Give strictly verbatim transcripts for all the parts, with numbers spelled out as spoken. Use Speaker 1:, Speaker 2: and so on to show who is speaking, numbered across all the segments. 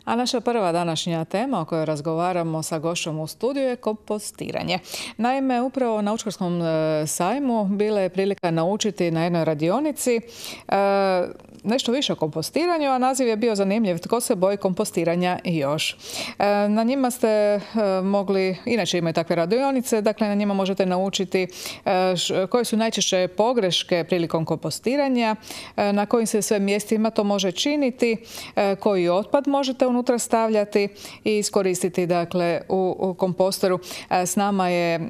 Speaker 1: A naša prva današnja tema o kojoj razgovaramo sa gošćom u studiju je kompostiranje. Naime, upravo na Učkarskom sajmu bila je prilika naučiti na jednoj radionici e, nešto više o kompostiranju, a naziv je bio zanimljiv. Tko se boji kompostiranja i još? E, na njima ste e, mogli, inače imaju takve radionice, dakle na njima možete naučiti e, š, koje su najčešće pogreške prilikom kompostiranja, e, na kojim se sve mjestima to može činiti, e, koji otpad možete unutra stavljati i iskoristiti dakle u, u kompostoru. E, s nama je e,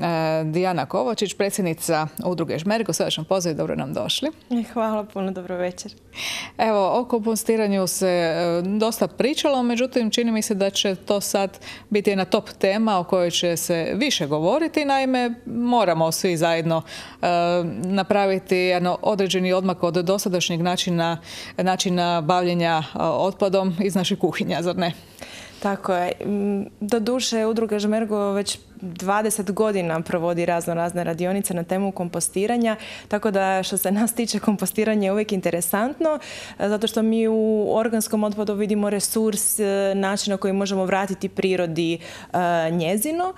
Speaker 1: Dijana Kovačić, predsjednica udruge Žmergo. Srdačan pozdrav i dobro nam došli.
Speaker 2: Hvala puno, dobro večer.
Speaker 1: Evo, o kompostiranju se e, dosta pričalo, međutim čini mi se da će to sad biti jedna top tema o kojoj će se više govoriti. Naime, moramo svi zajedno e, napraviti jedan određeni odmak od dosadašnjeg načina, načina bavljenja otpadom iz naših kuhinja, zar ne?
Speaker 2: Tako je. Doduše, udruga Žmergo već dvadeset godina provodi razno razne radionice na temu kompostiranja, tako da što se nas tiče kompostiranje je uvijek interesantno, zato što mi u organskom otpadu vidimo resurs, način na koji možemo vratiti prirodi njezino,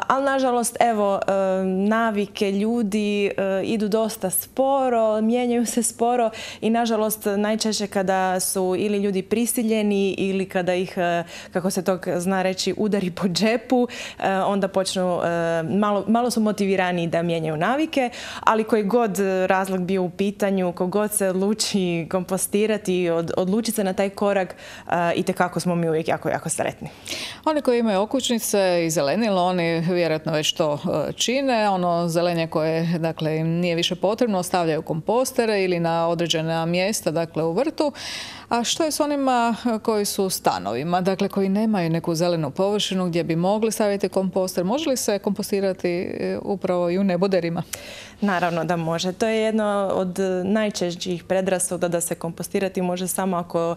Speaker 2: ali nažalost, evo, navike ljudi idu dosta sporo, mijenjaju se sporo i nažalost najčešće kada su ili ljudi prisiljeni ili kada ih, kako se to zna reći, udari po džepu, onda počnu, malo, malo su motivirani da mijenjaju navike, ali koji god razlog bio u pitanju, kogod se odluči kompostirati, od, odluči se na taj korak, itekako smo mi uvijek jako, jako sretni.
Speaker 1: Oni koji imaju okućnice i zelenilo, oni vjerojatno već to čine. Ono zelenje koje dakle, im nije više potrebno, ostavljaju kompostere ili na određena mjesta, dakle u vrtu. A što je s onima koji su u stanovima, dakle koji nemaju neku zelenu površinu gdje bi mogli staviti komposter? Može li se kompostirati upravo i u neboderima?
Speaker 2: Naravno da može. To je jedno od najčešćih predrasuda da se kompostirati može samo ako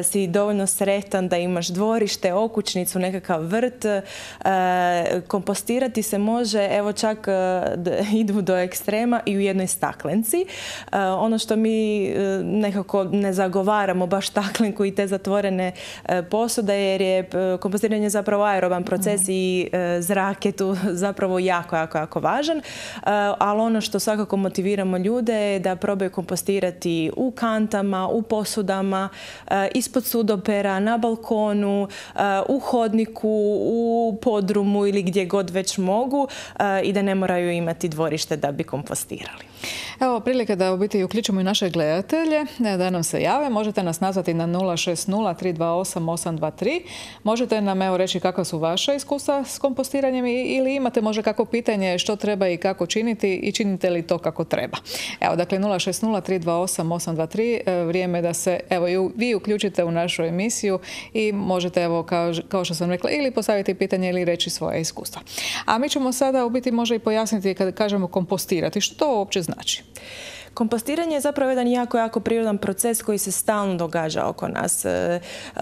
Speaker 2: si dovoljno sretan da imaš dvorište, okućnicu, nekakav vrt. E, kompostirati se može, evo čak idu do ekstrema i u jednoj staklenci. E, ono što mi nekako ne zagovaramo baš staklenku i te zatvorene posude, jer je kompostiranje zapravo aeroban proces mm. i zrak je tu zapravo jako, jako, jako važan. Ali ono što svakako motiviramo ljude je da probaju kompostirati u kantama, u posudama, ispod sudopera, na balkonu, u hodniku, u podrumu ili gdje god već mogu i da ne moraju imati dvorište da bi kompostirali.
Speaker 1: Evo prilike da u biti uključimo i naše gledatelje, da nam se jave. Možete nas nazvati na nula šest nula tri dva osam osam dva tri. Možete nam evo reći kakva su vaša iskustva s kompostiranjem ili imate možda kakvo pitanje što treba i kako činiti i činite li to kako treba. Evo dakle nula šest nula tri dva osam osam dva tri, vrijeme da se evo i vi uključite u našu emisiju i možete evo kao, kao što sam rekla ili postaviti pitanje ili reći svoje iskustva. A mi ćemo sada u biti možda i pojasniti kada kažemo kompostirati, što to uopće znači.
Speaker 2: Kompostiranje je zapravo jedan jako, jako prirodan proces koji se stalno događa oko nas.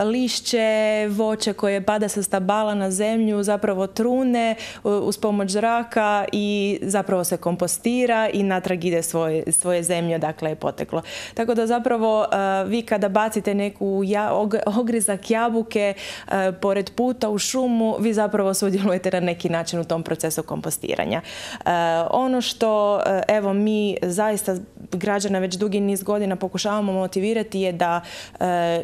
Speaker 2: Lišće, voće koje pada sa stabala na zemlju zapravo trune uz pomoć zraka i zapravo se kompostira i natrag ide svoje, svoje zemlje odakle je poteklo. Tako da zapravo vi kada bacite neku ja, ogrizak jabuke pored puta u šumu, vi zapravo sudjelujete na neki način u tom procesu kompostiranja. Ono što evo mi zaista građana već dugi niz godina pokušavamo motivirati je da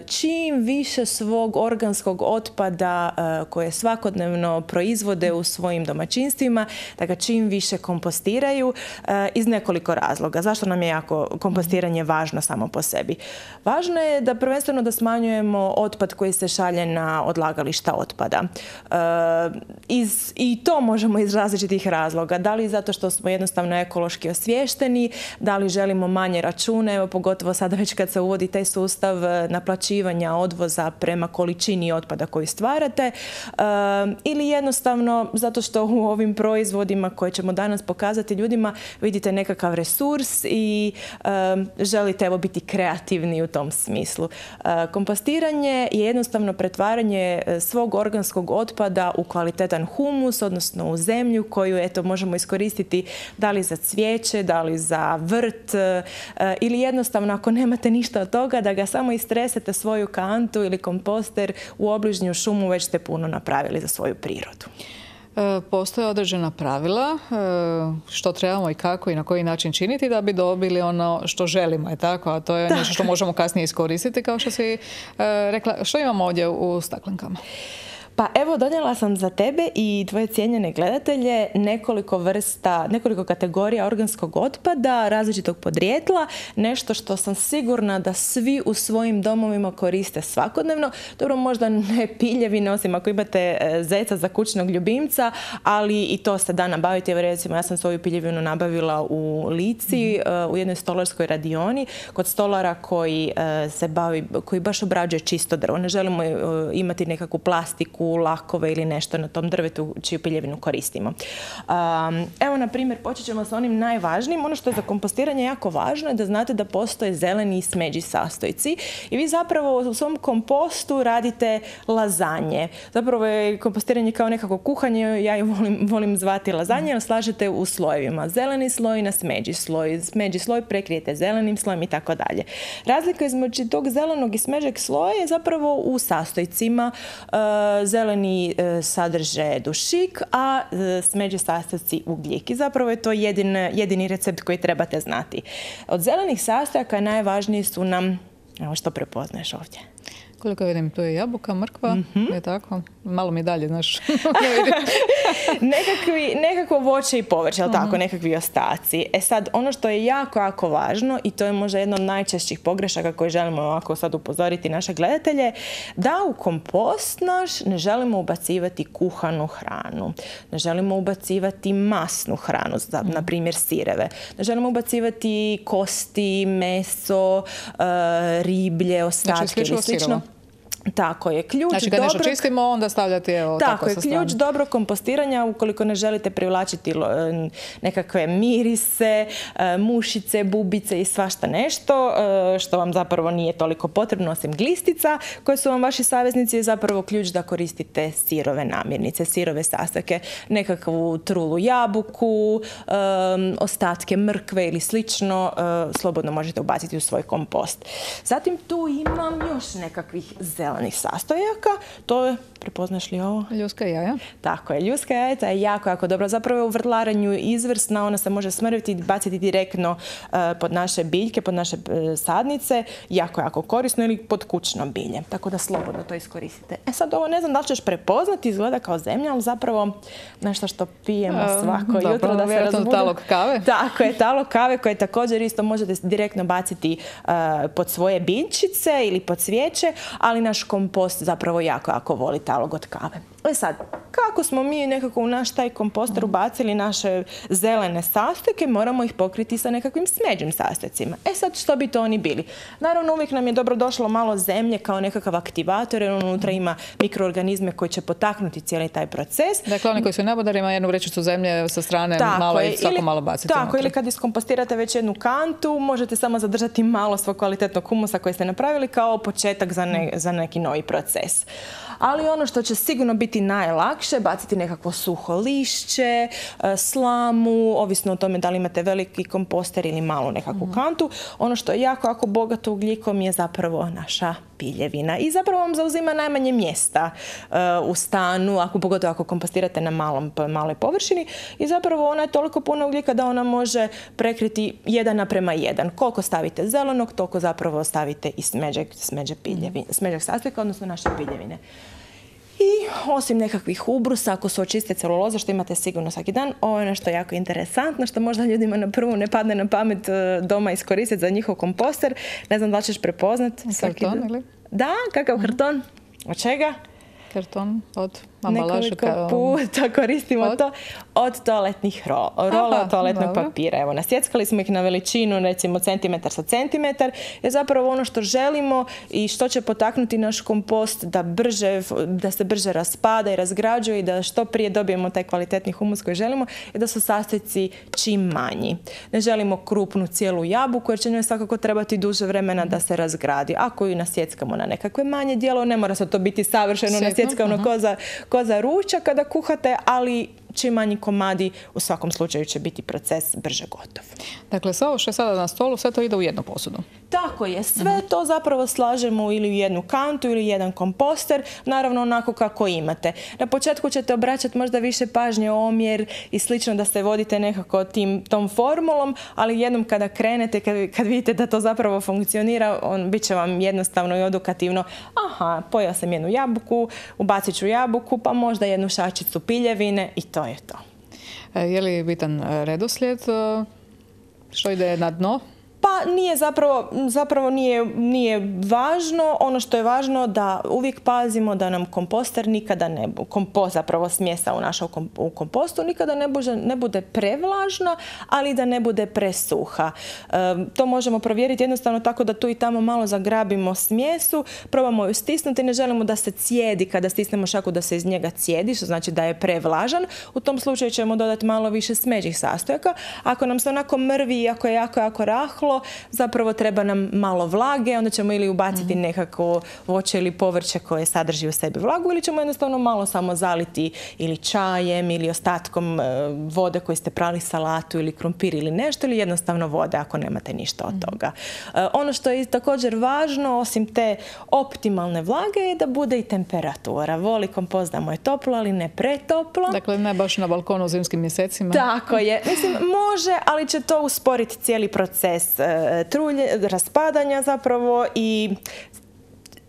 Speaker 2: čim više svog organskog otpada koje svakodnevno proizvode u svojim domaćinstvima, da ga čim više kompostiraju iz nekoliko razloga. Zašto nam je jako kompostiranje važno samo po sebi? Važno je da prvenstveno da smanjujemo otpad koji se šalje na odlagališta otpada. Iz, I to možemo iz različitih razloga. Da li zato što smo jednostavno ekološki osviješteni, da li želimo manje račune, evo pogotovo sada već kad se uvodi taj sustav naplaćivanja odvoza prema količini otpada koju stvarate, e, ili jednostavno zato što u ovim proizvodima koje ćemo danas pokazati ljudima vidite nekakav resurs i e, želite evo biti kreativni u tom smislu. E, kompostiranje je jednostavno pretvaranje svog organskog otpada u kvalitetan humus, odnosno u zemlju koju eto možemo iskoristiti da li za cvijeće, da li za vrt, ili jednostavno ako nemate ništa od toga da ga samo istresete svoju kantu ili komposter u obližnju šumu, već ste puno napravili za svoju prirodu.
Speaker 1: Postoje određena pravila što trebamo i kako i na koji način činiti da bi dobili ono što želimo, je tako? A to je nešto što možemo kasnije iskoristiti, kao što si rekla. Što imamo ovdje u staklenkama?
Speaker 2: Pa evo, donijela sam za tebe i tvoje cijenjene gledatelje nekoliko vrsta, nekoliko kategorija organskog otpada različitog podrijetla, nešto što sam sigurna da svi u svojim domovima koriste svakodnevno. Dobro, možda ne piljevine, osim ako imate zeca za kućnog ljubimca, ali i to se da nabaviti. Evo, recimo, ja sam svoju piljevinu nabavila u Lici, mm-hmm. u jednoj stolarskoj radioni, kod stolara koji se bavi, koji baš obrađuje čisto drvo. Ne želimo imati nekakvu plastiku, lakove ili nešto na tom drvetu čiju piljevinu koristimo. Um, evo, na primjer, počet ćemo sa onim najvažnijim. Ono što je za kompostiranje jako važno je da znate da postoje zeleni i smeđi sastojci i vi zapravo u svom kompostu radite lazanje. Zapravo je kompostiranje kao nekako kuhanje, ja ju volim, volim zvati lazanje, jer slažete u slojevima. Zeleni sloj na smeđi sloj, smeđi sloj prekrijete zelenim slojem i tako dalje. Razlika između tog zelenog i smeđeg sloja je zapravo u sastojcima. Uh, zeleni uh, sadrže dušik, a uh, smeđi sastojci ugljik. I zapravo je to jedin, jedini recept koji trebate znati. Od zelenih sastojaka najvažniji su nam, evo što prepoznaješ ovdje.
Speaker 1: Koliko vidim, tu je jabuka, mrkva, mm-hmm. je tako? Malo mi dalje, znaš.
Speaker 2: Nekakvi, nekako voće i povrće, ali mm-hmm. tako, nekakvi ostaci. E sad, ono što je jako, jako važno, i to je možda jedna od najčešćih pogrešaka koje želimo ovako sad upozoriti naše gledatelje, da u kompost naš ne želimo ubacivati kuhanu hranu. Ne želimo ubacivati masnu hranu, za, mm-hmm. na primjer sireve. Ne želimo ubacivati kosti, meso, uh, riblje, ostatke
Speaker 1: znači,
Speaker 2: ili slično. Tako je. Ključ
Speaker 1: znači, kad
Speaker 2: dobrog...
Speaker 1: nešto čistimo, onda stavljati evo,
Speaker 2: tako,
Speaker 1: tako
Speaker 2: je,
Speaker 1: sa
Speaker 2: ključ dobrog kompostiranja, ukoliko ne želite privlačiti nekakve mirise, mušice, bubice i svašta nešto, što vam zapravo nije toliko potrebno, osim glistica, koje su vam vaši saveznici, je zapravo ključ da koristite sirove namirnice, sirove sastojke, nekakvu trulu jabuku, ostatke mrkve ili slično, slobodno možete ubaciti u svoj kompost. Zatim tu imam još nekakvih zelenih sastojaka, to je, prepoznaš li ovo?
Speaker 1: Ljuska jaja.
Speaker 2: Tako je, ljuska jaja je jako, jako dobro. Zapravo je u vrtlaranju izvrsna, ona se može smrviti i baciti direktno uh, pod naše biljke, pod naše uh, sadnice, jako, jako korisno, ili pod kućno bilje. Tako da slobodno to iskoristite. E sad ovo ne znam da li ćeš prepoznati, izgleda kao zemlja, ali zapravo nešto što pijemo svako uh, jutro da se razbudu.
Speaker 1: Talog kave.
Speaker 2: Tako je, talog kave koje također isto možete direktno baciti uh, pod svoje biljčice ili pod cvijeće, ali naš kompost zapravo jako, jako voli talog od kave. E sad, kako smo mi nekako u naš taj komposter ubacili naše zelene sastojke, moramo ih pokriti sa nekakvim smeđim sastojcima. E sad, što bi to oni bili? Naravno, uvijek nam je dobro došlo malo zemlje kao nekakav aktivator, jer unutra ima mikroorganizme koji će potaknuti cijeli taj proces.
Speaker 1: Dakle, oni koji su nabodari ima jednu vrećicu zemlje sa strane, tako malo je, i svako ili, malo baciti.
Speaker 2: Tako,
Speaker 1: unutra.
Speaker 2: Ili kad iskompostirate već jednu kantu, možete samo zadržati malo svog kvalitetnog humusa koji ste napravili kao početak za, ne, za neki novi proces. Ali ono što će sigurno biti najlakše, baciti nekakvo suho lišće, slamu, ovisno o tome da li imate veliki komposter ili malu nekakvu mm-hmm. kantu. Ono što je jako, jako bogato ugljikom je zapravo naša piljevina. I zapravo vam zauzima najmanje mjesta uh, u stanu, ako pogotovo ako kompostirate na malom, maloj površini. I zapravo ona je toliko puno ugljika da ona može prekriti jedan naprema jedan. Koliko stavite zelenog, toliko zapravo stavite i smeđeg, smeđeg, piljevine, smeđeg sastojka, odnosno naše piljevine. I osim nekakvih ubrusa, ako su očiste celuloza, što imate sigurno svaki dan, ovo je nešto jako interesantno, što možda ljudima na prvu ne padne na pamet doma iskoristiti za njihov komposter. Ne znam da li ćeš prepoznati.
Speaker 1: Karton ili?
Speaker 2: Da, kakav mm-hmm. karton? Od čega?
Speaker 1: Karton od ambalaža.
Speaker 2: Nekoliko puta koristimo od? to od toaletnih ro rola, Aha, toaletnog dobro. papira. Evo, nasjeckali smo ih na veličinu, recimo centimetar sa centimetar. Je zapravo ono što želimo i što će potaknuti naš kompost da, brže, da se brže raspada i razgrađuje i da što prije dobijemo taj kvalitetni humus koji želimo, je da su sastojci čim manji. Ne želimo krupnu cijelu jabuku, jer će njoj svakako trebati duže vremena da se razgradi. Ako ju nasjeckamo na nekakve manje dijelo, ne mora se to biti savršeno nasjeckano ko za, ko za ručak kada kuhate, ali čim manji komadi, u svakom slučaju će biti proces brže gotov.
Speaker 1: Dakle, sve ovo što je sada na stolu, sve to ide u jednu posudu.
Speaker 2: Tako je, sve to zapravo slažemo ili u jednu kantu ili jednu komposter, naravno onako kako imate. Na početku ćete obraćati možda više pažnje, omjer i slično, da se vodite nekako tim, tom formulom, ali jednom kada krenete, kad, kad vidite da to zapravo funkcionira, on bit će vam jednostavno i edukativno. Aha, pojeo sam jednu jabuku, ubacit ću jabuku, pa možda jednu šačicu piljevine i to je to.
Speaker 1: Je li bitan redoslijed što ide na dno?
Speaker 2: Pa nije zapravo, zapravo nije, nije važno. Ono što je važno da uvijek pazimo da nam komposter nikada ne bude, kompost, zapravo smjesa u našem u kompostu, nikada ne bude, ne bude prevlažna, ali da ne bude presuha. E, to možemo provjeriti jednostavno tako da tu i tamo malo zagrabimo smjesu, probamo ju stisnuti, ne želimo da se cijedi kada stisnemo šaku, da se iz njega cijedi, što znači da je prevlažan. U tom slučaju ćemo dodati malo više smeđih sastojaka. Ako nam se onako mrvi i ako je jako, jako rahlo, zapravo treba nam malo vlage, onda ćemo ili ubaciti mm-hmm. nekako voće ili povrće koje sadrži u sebi vlagu, ili ćemo jednostavno malo samo zaliti ili čajem ili ostatkom vode koje ste prali salatu ili krumpir ili nešto, ili jednostavno vode ako nemate ništa od toga. Mm-hmm. Ono što je također važno, osim te optimalne vlage, je da bude i temperatura. Voli kompost da mu je toplo, ali ne pretoplo.
Speaker 1: Dakle, ne baš na balkonu u zimskim mjesecima.
Speaker 2: Tako je. Mislim, može, ali će to usporiti cijeli proces trulje, raspadanja zapravo, i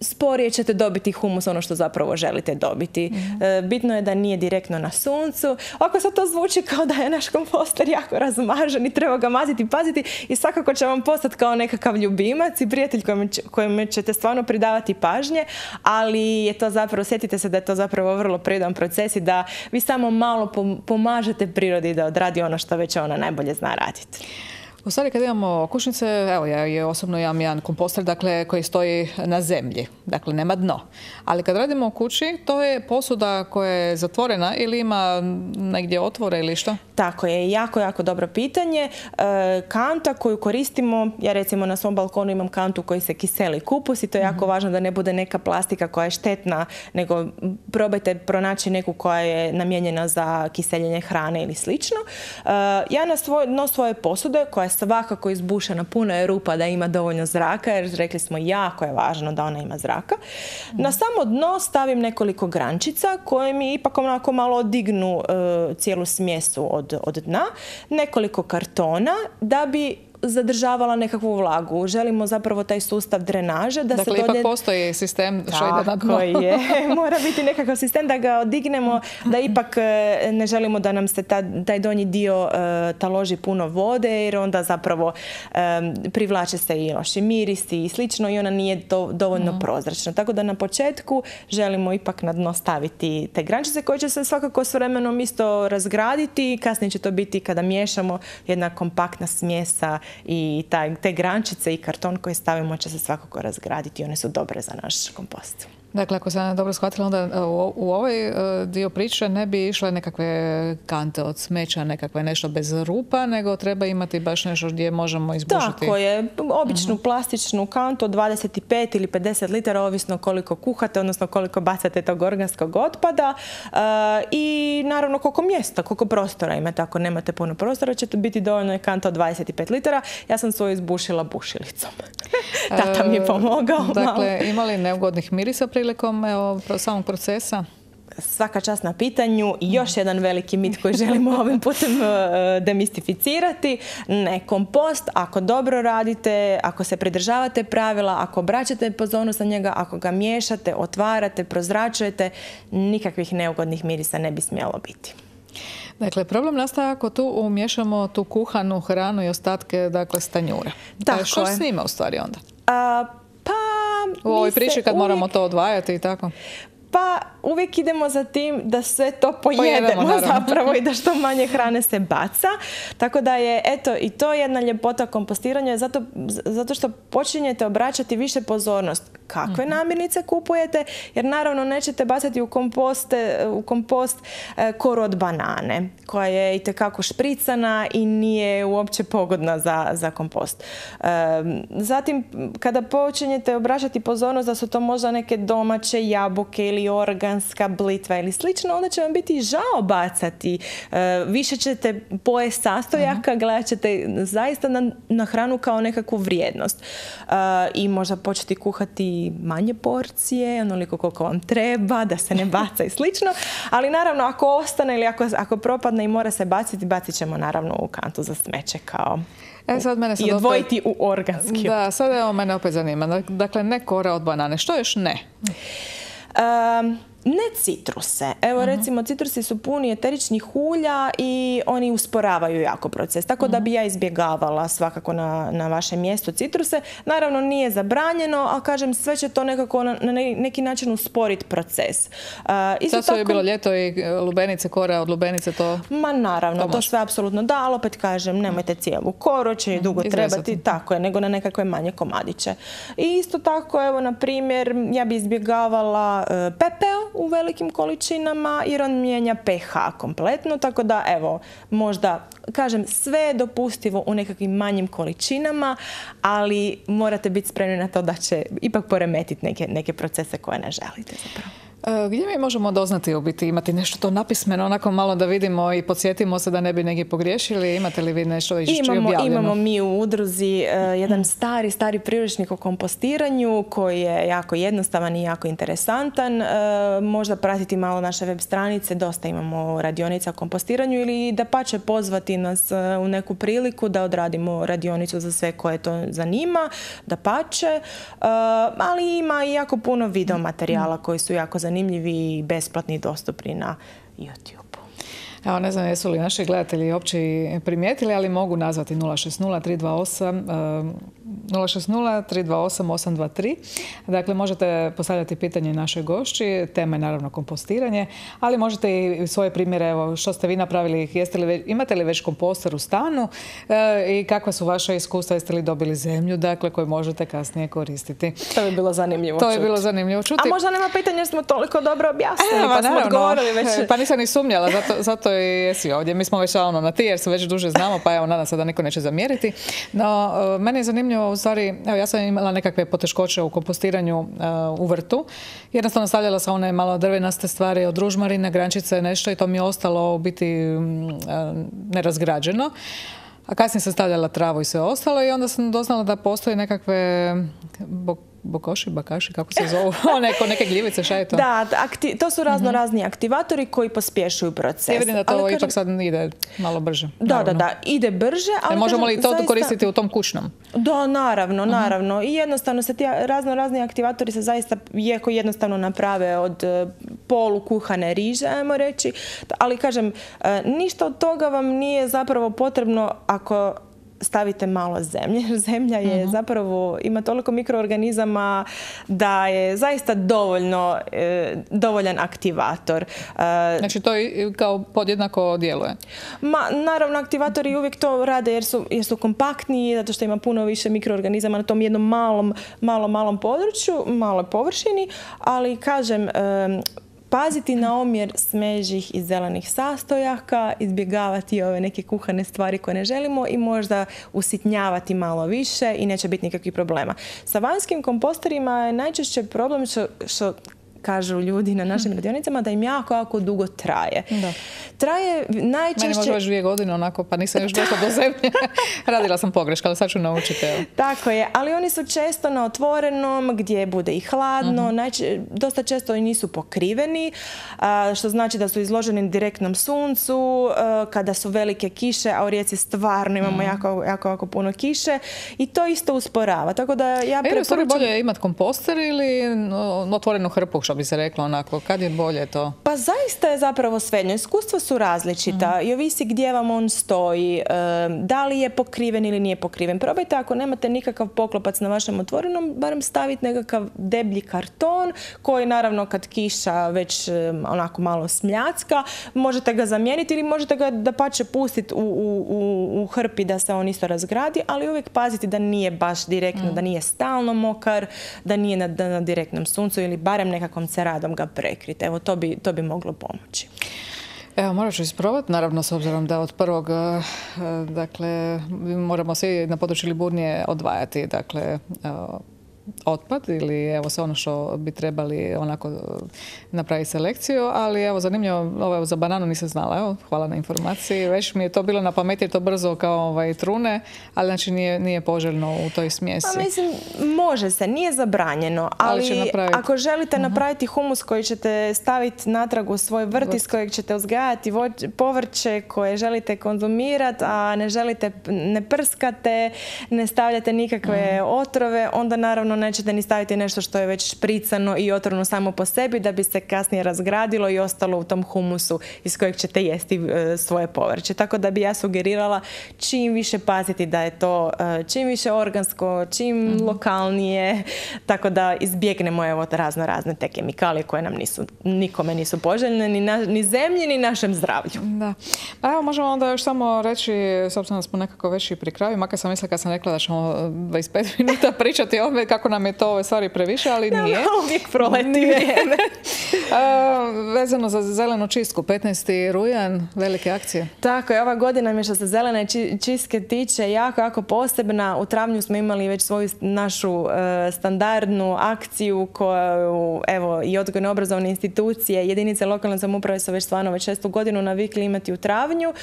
Speaker 2: sporije ćete dobiti humus, ono što zapravo želite dobiti. Mm-hmm. Bitno je da nije direktno na suncu. Ako sad to zvuči kao da je naš komposter jako razmažen i treba ga maziti i paziti, i svakako će vam postati kao nekakav ljubimac i prijatelj kojem, kojem ćete stvarno pridavati pažnje, ali je to zapravo, sjetite se da je to zapravo vrlo prirodan proces i da vi samo malo pomažete prirodi da odradi ono što već ona najbolje zna raditi.
Speaker 1: U stvari, kad imamo okućnice, evo ja je osobno imam jedan komposter, dakle, koji stoji na zemlji, dakle nema dno. Ali kad radimo u kući, to je posuda koja je zatvorena ili ima negdje otvore ili što?
Speaker 2: Tako je, jako, jako dobro pitanje. E, kanta koju koristimo, ja recimo na svom balkonu imam kantu koji se kiseli kupus i to je jako mm-hmm. važno da ne bude neka plastika koja je štetna, nego probajte pronaći neku koja je namijenjena za kiseljenje hrane ili slično. E, ja na svoj, no svoje posude, koja je svakako izbušena, puno je rupa da ima dovoljno zraka, jer rekli smo jako je važno da ona ima zraka. Mm. Na samo dno stavim nekoliko grančica koje mi ipak onako malo odignu uh, cijelu smjesu od, od dna, nekoliko kartona da bi zadržavala nekakvu vlagu. Želimo zapravo taj sustav drenaže. Da
Speaker 1: dakle,
Speaker 2: se
Speaker 1: ipak postoji sistem što ide na dno.
Speaker 2: Tako je. Mora biti nekakav sistem da ga odignemo, da ipak ne želimo da nam se ta, taj donji dio uh, taloži puno vode, jer onda zapravo um, privlače se i loši mirisi i slično i ona nije do, dovoljno mm. prozračna. Tako da na početku želimo ipak na dno staviti te grančice koje će se svakako s vremenom isto razgraditi. Kasnije će to biti kada miješamo jedna kompaktna smjesa i taj, te grančice i karton koji stavimo će se svakako razgraditi i one su dobre za naš kompost.
Speaker 1: Dakle, ako sam dobro shvatila, onda u, u ovaj dio priče ne bi išle nekakve kante od smeća, nekakve nešto bez rupa, nego treba imati baš nešto gdje možemo izbušiti.
Speaker 2: Tako je. Običnu uh-huh. plastičnu kantu od dvadeset pet ili pedeset litara, ovisno koliko kuhate, odnosno koliko bacate tog organskog otpada. Uh, I naravno koliko mjesta, koliko prostora imate. Ako nemate puno prostora, će to biti dovoljno je kanta od dvadeset pet litara. Ja sam svoju izbušila bušilicom. Tata mi je pomogao.
Speaker 1: Dakle, ima li neugodnih mirisa prilikom evo, samog procesa?
Speaker 2: Svaka čast na pitanju. I još jedan veliki mit koji želimo ovim putem demistificirati. Ne, kompost, ako dobro radite, ako se pridržavate pravila, ako obraćate pozornost na njega, ako ga miješate, otvarate, prozračujete, nikakvih neugodnih mirisa ne bi smjelo biti.
Speaker 1: Dakle, problem nastaje ako tu umiješamo tu kuhanu hranu i ostatke, dakle, stanjura.
Speaker 2: Tako
Speaker 1: što
Speaker 2: je.
Speaker 1: s njima u stvari onda?
Speaker 2: A, pa...
Speaker 1: U ovoj priči kad
Speaker 2: uvijek...
Speaker 1: moramo to odvajati i tako?
Speaker 2: Pa uvijek idemo za tim da sve to pojedemo, pojedemo zapravo i da što manje hrane se baca. Tako da je, eto, i to jedna ljepota kompostiranja, zato, zato što počinjete obraćati više pozornost kakve namirnice kupujete, jer naravno nećete bacati u, komposte, u kompost e, koru od banane, koja je itekako špricana i nije uopće pogodna za, za kompost. E, zatim, kada počinjete obraćati pozornost da su to možda neke domaće jabuke ili ili organska blitva ili slično, onda će vam biti žao bacati. Više ćete pojesti sastojaka, gledat ćete zaista na, na hranu kao nekakvu vrijednost. I možda početi kuhati manje porcije, onoliko koliko vam treba, da se ne baca i slično. Ali naravno, ako ostane ili ako, ako propadne i mora se baciti, bacit ćemo naravno u kantu za smeće kao
Speaker 1: e, sad mene sad
Speaker 2: i odvojiti
Speaker 1: opet,
Speaker 2: u organski.
Speaker 1: Da, sad evo mene opet zanima. Dakle, ne kora od banane. Što još ne?
Speaker 2: Um, Ne citruse. Evo, recimo, citrusi su puni eteričnih ulja i oni usporavaju jako proces. Tako da bi ja izbjegavala svakako na, na vašem mjestu citruse. Naravno, nije zabranjeno, ali kažem, sve će to nekako na, na neki način usporiti proces. Uh,
Speaker 1: Sad su je bilo ljeto i lubenice, kora od lubenice, to...
Speaker 2: Ma naravno, to, to sve apsolutno da, ali opet kažem, nemojte cijelu koru, će i dugo trebati, tako je, nego na nekakve manje komadiće. I isto tako, evo, na primjer, ja bi izbjegavala uh, pepeo u velikim količinama jer on mijenja pH kompletno, tako da evo, možda, kažem, sve je dopustivo u nekakvim manjim količinama, ali morate biti spremni na to da će ipak poremetiti neke, neke procese koje ne želite zapravo.
Speaker 1: Gdje mi možemo doznati u biti, imati nešto to napismeno, onako malo da vidimo i podsjetimo se da ne bi negdje pogriješili? Imate li vi nešto već objavljeno?
Speaker 2: Imamo mi u udruzi uh, jedan stari, stari priručnik o kompostiranju koji je jako jednostavan i jako interesantan. Uh, možda pratiti malo naše web stranice, dosta imamo radionica o kompostiranju ili da pače pozvati nas uh, u neku priliku da odradimo radionicu za sve koje to zanima, da pače. Uh, ali ima i jako puno video materijala koji su jako zanimljivi zanimljivi i besplatni i dostupni na YouTube.
Speaker 1: Evo, ne znam jesu li naši gledatelji uopće primijetili, ali mogu nazvati nula šest nula tri dva osam nula šest nula tri dva osam osam dva tri. Dakle, možete postavljati pitanje našoj gošći. Tema je naravno kompostiranje, ali možete i svoje primjere, evo, što ste vi napravili, jeste li, imate li već komposter u stanu e, i kakva su vaša iskustva, jeste li dobili zemlju, dakle, koju možete kasnije koristiti.
Speaker 2: To bi bilo zanimljivo
Speaker 1: to
Speaker 2: čuti.
Speaker 1: To je bilo zanimljivo čuti.
Speaker 2: A možda nema pitanja jer smo toliko dobro objasnili,
Speaker 1: e,
Speaker 2: pa smo odgovorili već.
Speaker 1: Pa nisam ni sumnjala, zato, zato i jesi ovdje. Mi smo već ono na ti jer se već duže znamo, pa evo, nadam se da niko neće zamjeriti. No, meni je zanimljivo, u stvari, evo, ja sam imala nekakve poteškoće u kompostiranju uh, u vrtu. Jednostavno stavljala sam one malo drvenaste stvari od ružmarine, grančice, nešto i to mi je ostalo u biti um, uh, nerazgrađeno. A kasnije sam stavljala travu i sve ostalo i onda sam doznala da postoje nekakve bok bokoši, bakaši, kako se zovu, neko, neke gljivice, šta je to?
Speaker 2: Da, akti, to su razno razni aktivatori koji pospješuju proces.
Speaker 1: Ja vidim da to
Speaker 2: ali,
Speaker 1: ipak kažem, sad ide malo brže.
Speaker 2: Da,
Speaker 1: naravno.
Speaker 2: da, da, ide brže. Ali
Speaker 1: e, možemo
Speaker 2: kažem,
Speaker 1: li to
Speaker 2: zaista
Speaker 1: koristiti u tom kućnom?
Speaker 2: Da, naravno, naravno. Uh-huh. I jednostavno se ti razno razni aktivatori se zaista jako jednostavno naprave od polu kuhane riže, ajmo reći. Ali kažem, ništa od toga vam nije zapravo potrebno ako stavite malo zemlje. Zemlja je uh-huh. zapravo, ima toliko mikroorganizama da je zaista dovoljno, e, dovoljan aktivator.
Speaker 1: E, znači to i kao podjednako djeluje?
Speaker 2: Ma, naravno, aktivatori uvijek to rade jer su, jer su kompaktniji, zato što ima puno više mikroorganizama na tom jednom malom, malom, malom području, maloj površini, ali kažem, e, paziti na omjer smeđih i zelenih sastojaka, izbjegavati ove neke kuhane stvari koje ne želimo i možda usitnjavati malo više i neće biti nikakvih problema. Sa vanjskim komposterima je najčešće problem što, što kažu ljudi na našim radionicama da im jako, jako dugo traje. Da. Traje najčešće...
Speaker 1: Meni može već dvije godine onako, pa nisam još došla do zemlje. Radila sam pogreška, ali sad ću naučiti. Evo.
Speaker 2: Tako je, ali oni su često na otvorenom, gdje bude i hladno, uh-huh. Najče, dosta često i nisu pokriveni, a, što znači da su izloženi direktnom suncu, a, kada su velike kiše, a u Rijeci stvarno imamo uh-huh. jako, jako, jako puno kiše i to isto usporava. Tako da ja preporučam...
Speaker 1: Je li bolje imati komposter ili otvorenu hrpu, što bi se reklo onako, kad je bolje to?
Speaker 2: Pa zaista je zapravo svejedno. Iskustva su različita mm. i ovisi gdje vam on stoji, da li je pokriven ili nije pokriven. Probajte ako nemate nikakav poklopac na vašem otvorenom, barem staviti nekakav deblji karton koji naravno kad kiša već onako malo smljacka, možete ga zamijeniti ili možete ga da pače pustiti u, u, u, u hrpi da se on isto razgradi, ali uvijek paziti da nije baš direktno, mm. da nije stalno mokar, da nije na, na direktnom suncu ili barem nekakvom ceradom ga prekriti. Evo, to bi, to bi moglo pomoći.
Speaker 1: Evo, morat ću isprobati, naravno, s obzirom da od prvog, dakle, moramo svi na području Liburnije odvajati, dakle, otpad ili evo sve ono što bi trebali onako napraviti selekciju, ali evo zanimljivo, ovo za bananu nisam znala, evo, hvala na informaciji, već mi je to bilo na pameti, to brzo kao ovaj, trune, ali znači nije, nije poželjno u toj smjesi.
Speaker 2: Pa mislim, može se, nije zabranjeno, ali, ali napraviti... ako želite uh-huh. napraviti humus koji ćete staviti natrag u svoj vrt iz kojeg ćete uzgajati voć, povrće koje želite konzumirati, a ne želite, ne prskate, ne stavljate nikakve uh-huh. otrove, onda naravno nećete ni staviti nešto što je već špricano i otrovno samo po sebi da bi se kasnije razgradilo i ostalo u tom humusu iz kojeg ćete jesti e, svoje povrće. Tako da bi ja sugerirala čim više paziti da je to e, čim više organsko, čim mm-hmm. lokalnije, tako da izbjegnemo evo razno razne te kemikalije koje nam nisu, nikome nisu poželjne, ni, na, ni zemlji, ni našem zdravlju.
Speaker 1: Da. Pa evo možemo onda još samo reći, s obzirom da smo nekako već i pri kraju, makar sam mislila kad sam rekla da ćemo dvadeset pet minuta pričati o ove, kako nam je to ove stvari previše, ali nije.
Speaker 2: Ja, uvijek proleti vrijeme.
Speaker 1: Vezano za zelenu čistku, petnaesti rujan, velike akcije.
Speaker 2: Tako je, ova godina mi što se zelene čistke tiče jako, jako posebna. U travnju smo imali već svoju našu e, standardnu akciju koju, evo, i odgojno-obrazovne institucije, jedinice lokalne samouprave su već stvarno već šestu godinu navikli imati u travnju. E,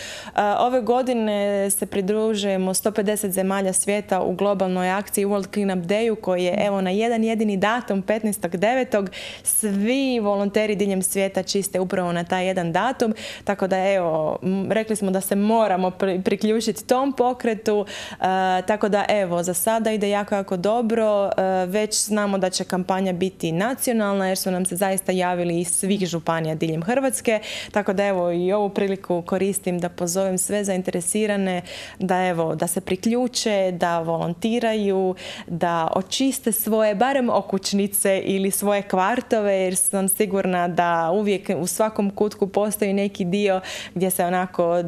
Speaker 2: ove godine se pridružujemo sto pedeset zemalja svijeta u globalnoj akciji World Cleanup Dayu koji je evo na jedan jedini datum, petnaestog devetog Svi volonteri diljem svijeta čiste upravo na taj jedan datum, tako da evo, rekli smo da se moramo priključiti tom pokretu, e, tako da evo, za sada ide jako, jako dobro, e, već znamo da će kampanja biti nacionalna jer su nam se zaista javili iz svih županija diljem Hrvatske, tako da evo i ovu priliku koristim da pozovem sve zainteresirane da evo, da se priključe, da volontiraju, da očiste svoje, barem okućnice ili svoje kvartove, jer sam sigurna da uvijek u svakom kutku postoji neki dio gdje se onako e,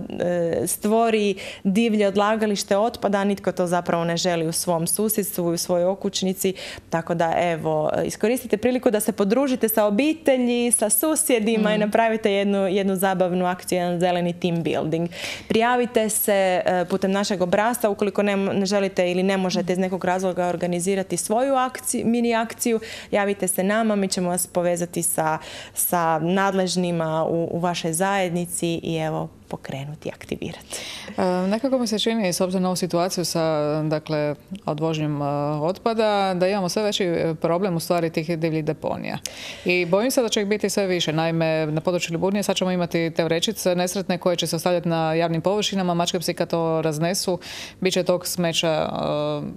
Speaker 2: stvori divlje odlagalište otpada, a nitko to zapravo ne želi u svom susjedstvu i u svojoj okućnici. Tako da evo, iskoristite priliku da se podružite sa obitelji, sa susjedima mm. i napravite jednu, jednu zabavnu akciju, jedan zeleni team building. Prijavite se e, putem našeg obrasca ukoliko ne, ne želite ili ne možete iz nekog razloga organizirati svoju akciju, mini akciju, javite se nama, mi ćemo vas povezati sa, sa nadležnima u, u vašoj zajednici i evo, pokrenuti i aktivirati.
Speaker 1: E, nekako mi se čini, s obzirom na ovu situaciju sa dakle, odvožnjem otpada, da imamo sve veći problem u stvari tih divljih deponija. I bojim se da će ih biti sve više. Naime, na području Liburnije sad ćemo imati te vrećice nesretne koje će se ostavljati na javnim površinama, mačke psi kad to raznesu, bit će tog smeća uh,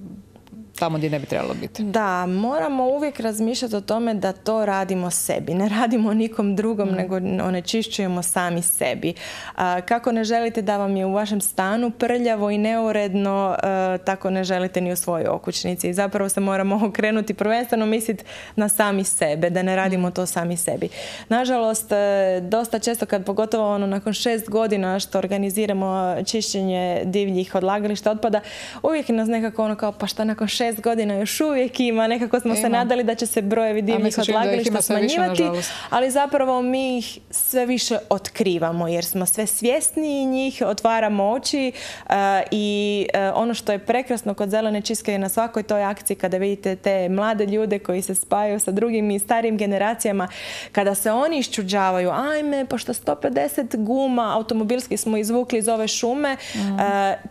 Speaker 1: tamo gdje ne bi trebalo biti.
Speaker 2: Da, moramo uvijek razmišljati o tome da to radimo sebi. Ne radimo nikom drugom, mm. nego onečišćujemo sami sebi. A, kako ne želite da vam je u vašem stanu prljavo i neuredno, a, tako ne želite ni u svojoj okućnici. I zapravo se moramo okrenuti prvenstveno misliti na sami sebe, da ne radimo to sami sebi. Nažalost, dosta često kad pogotovo ono, nakon šest godina što organiziramo čišćenje divljih odlagališta otpada, uvijek nas nekako ono kao pa šta nakon šest šest godina još uvijek ima, nekako smo ima. se nadali da će se brojevi divljih odlagališta smanjivati, više, ali zapravo mi ih sve više otkrivamo jer smo sve svjesniji njih, otvaramo oči uh, i uh, ono što je prekrasno kod zelene čistke je na svakoj toj akciji kada vidite te mlade ljude koji se spajaju sa drugim i starijim generacijama, kada se oni iščuđavaju, ajme, pošto sto pedeset guma automobilskih smo izvukli iz ove šume, mm. uh,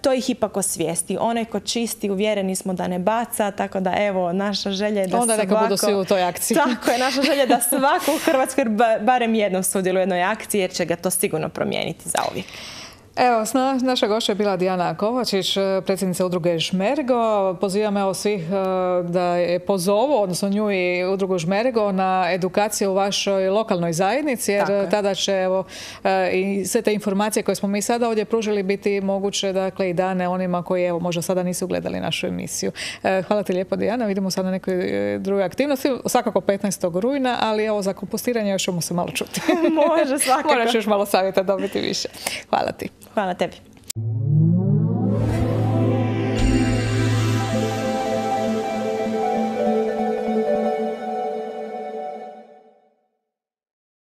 Speaker 2: to ih ipak osvijesti. Onaj ko čisti, uvjereni smo da ne baca, tako da evo, naša želja je da
Speaker 1: onda
Speaker 2: svako...
Speaker 1: Onda neka budu svi u toj akciji.
Speaker 2: Tako je, naša želja je da svako u Hrvatskoj barem jednom sudjeluje u jednoj akciji, jer će ga to sigurno promijeniti zauvijek.
Speaker 1: Evo, naša gošća je bila Dijana Kovačić, predsjednica udruge Žmergo. Pozivam evo svih da je pozovu, odnosno nju i udrugu Žmergo, na edukaciju u vašoj lokalnoj zajednici, jer tada će evo, i sve te informacije koje smo mi sada ovdje pružili biti moguće, dakle, i dane onima koji evo, možda sada nisu gledali našu emisiju. Hvala ti lijepo, Dijana. Vidimo sada na nekoj drugoj aktivnosti, svakako petnaestog rujna, ali evo za kompostiranje još ćemo se malo čuti.
Speaker 2: Može, svakako.
Speaker 1: Moraš još malo savjeta dobiti više. Hvala ti.
Speaker 2: Hvala tebi.